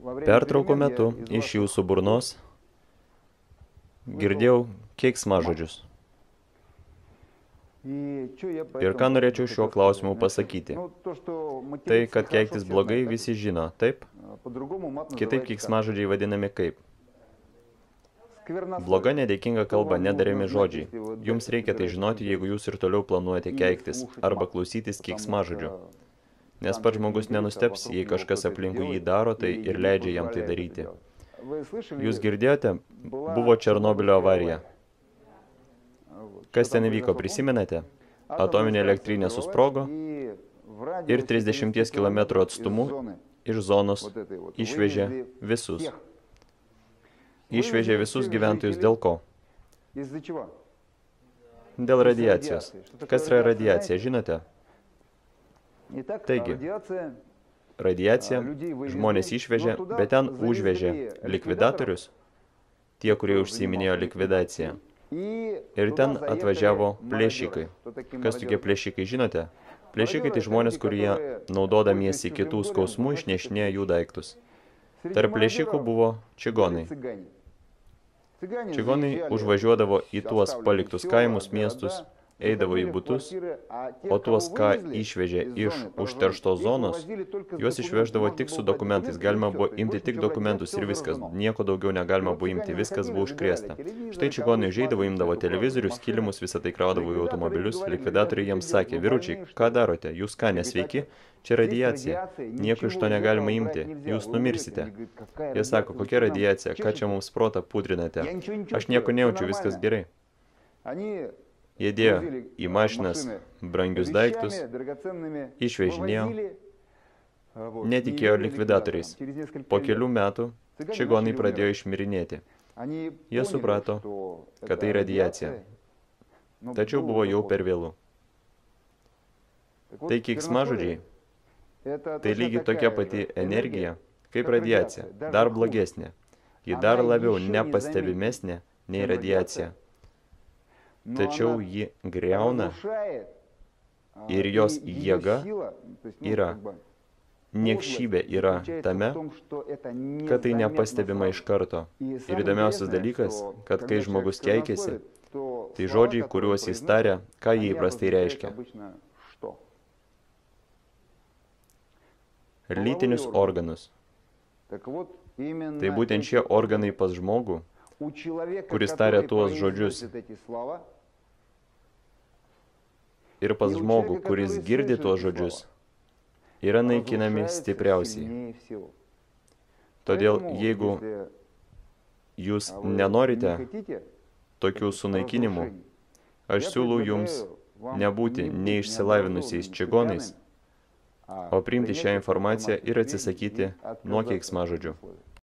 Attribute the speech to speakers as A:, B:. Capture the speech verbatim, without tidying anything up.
A: Pertraukų metu iš jūsų burnos girdėjau keiksmažodžius. Ir ką norėčiau šiuo klausimu pasakyti? Tai, kad keiktis blogai, visi žino, taip? Kitaip keiksmažodžiai vadinami kaip? Bloga nedėkinga kalba, nedarėmi žodžiai. Jums reikia tai žinoti, jeigu jūs ir toliau planuojate keiktis arba klausytis keiksmažodžių. Nes pats žmogus nenusteps, jei kažkas aplinkui jį daro, tai ir leidžia jam tai daryti. Jūs girdėjote, buvo Černobylio avarija. Kas ten įvyko, prisimenate? Atominė elektrinė susprogo ir trisdešimties kilometrų atstumu iš zonos išvežė visus. Išvežė visus gyventojus dėl ko? Dėl radiacijos. Kas yra radiacija, žinote? Taigi, radiacija, žmonės išvežė, bet ten užvežė likvidatorius, tie, kurie užsiiminėjo likvidaciją. Ir ten atvažiavo plėšikai. Kas tokie plėšikai, žinote? Plėšikai tai žmonės, kurie, naudodamiesi kitų skausmų, išnešinėja jų daiktus. Tarp plėšikų buvo čigonai. Čigonai užvažiuodavo į tuos paliktus kaimus, miestus, eidavo į butus, o tuos, ką išvežė iš užterštos zonos, juos išveždavo tik su dokumentais. Galima buvo imti tik dokumentus ir viskas. Nieko daugiau negalima buvo imti, viskas buvo užkrėsta. Štai čigonai užeidavo, imdavo televizorius, kilimus, visą tai kraudavo į automobilius. Likvidatoriai jiems sakė: vyručiai, ką darote? Jūs ką, nesveiki? Čia radiacija. Nieko iš to negalima imti. Jūs numirsite. Jie sako: kokia radiacija? Ką čia mums protą pudrinate? Aš nieko nejaučiu, viskas gerai. Jie dėjo į mašinas brangius daiktus, išvežinėjo, netikėjo likvidatoriais. Po kelių metų čigonai pradėjo išmirinėti. Jie suprato, kad tai radiacija. Tačiau buvo jau per vėlu. Tai keiksmažodžiai. Tai lygiai tokia pati energija, kaip radiacija, dar blogesnė. Ji dar labiau nepastebimesnė nei radiacija. Tačiau ji griauna ir jos jėga yra, niekšybė yra tame, kad tai nepastebima iš karto. Ir įdomiausias dalykas, kad kai žmogus keikiasi, tai žodžiai, kuriuos jis taria, ką jie įprastai reiškia. Lytinius organus. Tai būtent šie organai pas žmogų, kuris taria tuos žodžius, ir pas žmogų, kuris girdi tuos žodžius, yra naikinami stipriausiai. Todėl, jeigu jūs nenorite tokių sunaikinimų, aš siūlau jums nebūti neišsilavinusiais čigonais, o priimti šią informaciją ir atsisakyti nuo keiksmažodžių.